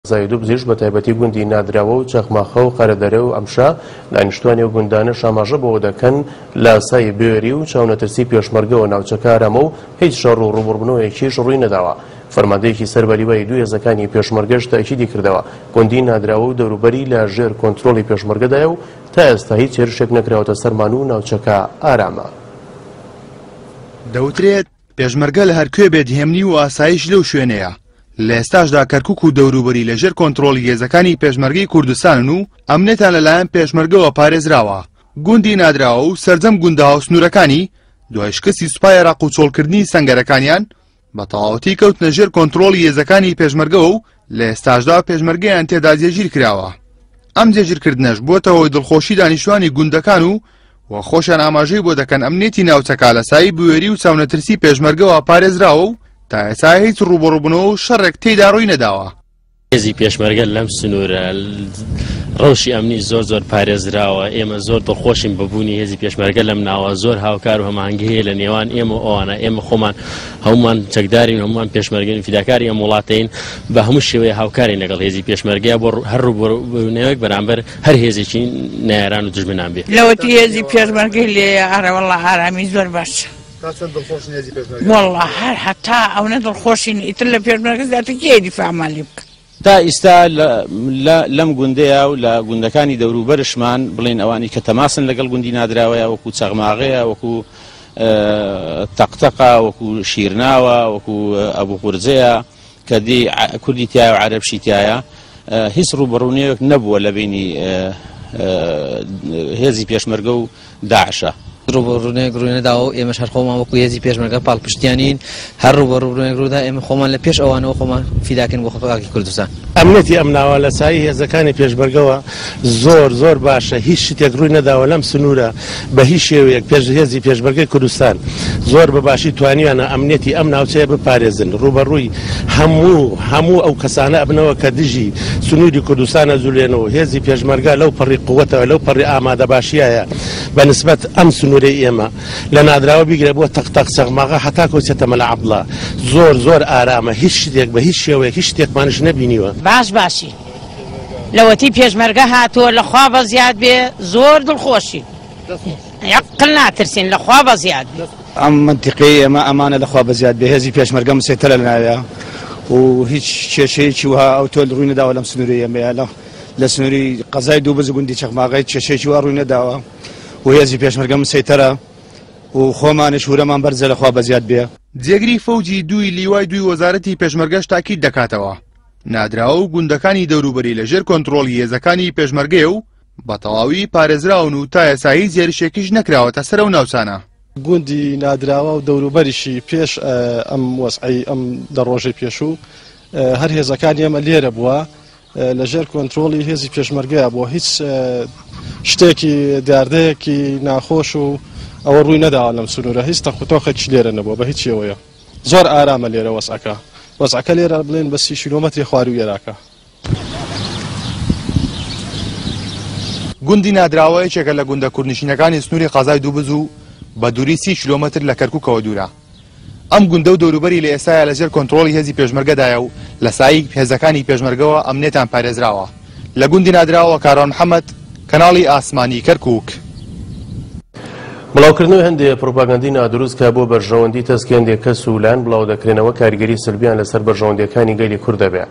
قەزای دوبزیش بە تایبەتی گوندی نادراوە و چەخماخە و قەرەدەرە و ئەمشا، دانیشتوانی ئەو گوندانەش ئاماژە بەوە دەکەن لە سای بوێری و چاونەترسی پێشمەرگەوە ناوچەکە ئارامە و هیچ شەڕ و ڕووبەڕووبوونەوەیەکیش ڕووی نەداوە. فەرماندەیەکی سەر بە لیوای دووی هێزەکانی پێشمەرگەش تەئکیدی کردەوە گوندی نادراوە و دەوروبەری لە ژێر کۆنترۆڵی پێشمەرگەدایە و تا ئێستا هیچ هێرشێک نەکراوەتە سەرمان و ناوچەکە ئارامە. دەوترێت پێشمەرگە لە هەرکوێ بێت هێمنی و ئاسایش لەو شوێنەیە، لە ئێستاشدا کەرکوک و دەوروبەری لە ژێر کۆنترۆڵی هێزەکانی پێشمەرگەی کوردستانن و ئەمنیەتان لەلایەن پێشمەرگەوە پارێزراوە. گوندی نادراوە و سەرجەم گوندە هاوسنوورەکانی دوای شکستی سوپای عێراق و چۆڵکردنی سەنگەرەکانیان بە تەواوەتی کەوتنە ژێر کۆنترۆڵی هێزەکانی پێشمەرگەوە و لە ئێستاشدا پێشمەرگەیان تێدا جێگیر کراوە. ئەم جێگیرکردنەش بووەتە هۆی دڵخۆشی دانیشتوانی گوندەکان و و خۆشیان ئاماژەی بۆ دەکەن ئەمنیەتی ناوچەکە لە سایەی بوێری و چاونەترسی پێشمەرگەوە پارێزراوە و تا ئێستا هیچ ڕووبەڕووبوونەوە و شەڕێک تێیدا ڕووی نەداوە. هێزی پێشمەرگە لەم سنوورە ڕەوشی ئەمنی زۆر زۆر پارێزراوە، ئێمە زۆر دڵخۆشین بە بوونی هێزی پێشمەرگە لەم ناوە، زۆر هاوکار و هەماهەنگی هەیە لە نێوان ئێمە و ئەوانە، ئێمە خۆمان هەمومان چەکدارین، هەمومان پێشمەرگەین، فیداکاری ئەم وڵاتەین، بە هەموو شێوەیە هاوکارین لەگەڵ هێزی پێشمەرگە بۆ هەر ڕووبەڕووبوونەوەیەک بەرامبەر هەر هێزێکی نەیاران و دوژمنان بێ. لەوەتی هێزی پێشمەرگەی لێیە ئەرێ وەڵا ئارامی زۆر باشە. تا چەند دڵخۆشن هێزی پێشمەرگە؟ وەڵا هەر هەتا ئەونە دڵخۆشین ئیتر لە پێشمەرگە زیاتر کێ دیفاعمان لێ بکا. تا ئیستا لە لەم گوندەیا و لە گوندەکانی دەوروبەرشمان بڵێین ئەوانی کە تەماسن لەگەڵ گوندی نادراوەیا وەکو چەغماغەیە وەکو تەقتەقە وەکو شیرناوە وەکو ئەبو قورجەیە کە دی کوردی تایە و عەرەبشی تایە هیچ ڕووبەڕوونەوەک نەبووە لە بینی هێزی پێشمەرگە و داعشە. ڕووبەڕوونەوەیەک ڕووی نەداوە و ئێمەش هەر خۆمان وەکو هێزی پێشمەرگە پاڵپشتیانین، هەر ڕووبەڕوونەوەیەک ڕوودا ئێمە خۆمان لە پێش ئەوانەوە خۆمان فیداکەین بۆ خاکی کوردستان. ئەمنیەتی ئەم ناوە لە سایەی هێزەکانی پێشمەرگەوە زۆر زۆر باشە هیچ شتێک ڕووی نەداوە لەم سنوورە بە هیچ شێوەیەک پێش هێزی پێشمەرگەی کوردستان زۆر بە باشی توانیویانە ئەمنیەتی ئەم ناوچەیە بپارێزن ڕووبەڕووی هەموو هەموو ئەو کەسانە ئەبنەوە کە دژی سنووری کوردستان ئەجولێنەوە هێزی پێشمەرگە لەو پەڕی قوەتەوە لەو پەڕی ئامادەباشیایە بە نسبەت ئەم سنوورەی ئێمە لە نادراوە بیگرە بۆ تەق تەق چەغماغە هەتاکۆ چێتە مەلا عەبدڵا زۆر زۆر ئارامە هیچ شتێک بە هیچ شێوەیەک هیچ شتێکمانش نەبینیوە. باش باشین لەوەتی پێشمەرگە هاتووە لەخوا بەزیاد بێ زۆر دڵخۆشین یەقل ناترسین لەخوا بەزیاد بێ. ئەم مەنتیقەی ئێمە ئەمانە لەخوا بەزیاد بێ هێزی پێشمەرگە مسەیتەرە لەناویا و هیچ کێشەیەکی وەها ئەوتۆ ڕووی نەداوە لەم سنوورەی ئێمەیە لە لە سنووری قەزای دووبز و گوندی چەخماغەی کێشەیەکی وا ڕووی نەداوە و هێزی پێشمەرگە مسەیتەرە و خۆمانیش ورەمان بەرزە لەخوا بەزیاد بێ. جێگری فەوجی دووی لیوای دووی وەزارەتی پێشمەرگەش تاکید دەکاتەوە، نادراوە و گوندەکانی دەوروبەری لەژێر کۆنتڕۆڵی هێزەکانی پێشمەرگەیە و بە تەواوی پارێزراون و تا ئێستا هیچ هێرشێکیش نەکراوەتە سەر ئەو ناوچانە. گوندی نادراوە و دەوروبەریشی پێش ئەم وەزعەی ئەم دە ڕۆژەی پێشوو هەر هێزەکانی ئێمە لێرە بووە لە ژێر کۆنترۆڵی هێزی پێشمەرگەیە بووە هیچ شتێکی دیاردەیەکی ناخۆش و ئەوە ڕووی نەداوە لەم سنوورە هیچ تەخوتۆخێکیش لێرە نەبووە بە هیچ شێوەیە زۆر ئارامە لێرە وەزعەکە وەزعەکە لێرە بڵێن بە سی کیلۆمەتری خواروو ئێراکە. گوندی نادراوە یەکێکە لە گوندە کوردنشینەکانی سنووری قەزای دووبز و بە دووری 30 کیلۆمەتر لە کەرکووکەوە دوورە. ئەم گوندە و دەوروبەری لە ئێستایا لەژێر کۆنترۆڵی هێزی پێشمەرگەدایە و لە سایەی هێزەکانی پێشمەرگەوە ئەمنیەتان پارێزراوە. لە گوندی نادراوە کاروان محەمەد، کەناڵی ئاسمانی کەرکووک. بڵاوکردنەوەی هەندێ پروپاگەندەی نادروست کە بۆ بەرژەوەندی تەسکی هەندێ کەس و لایەن بڵاودەکرێنەوە کاریگەری سلبیان لەسەر بەرژەوەندیەکانی گەلی کورد دەبێ.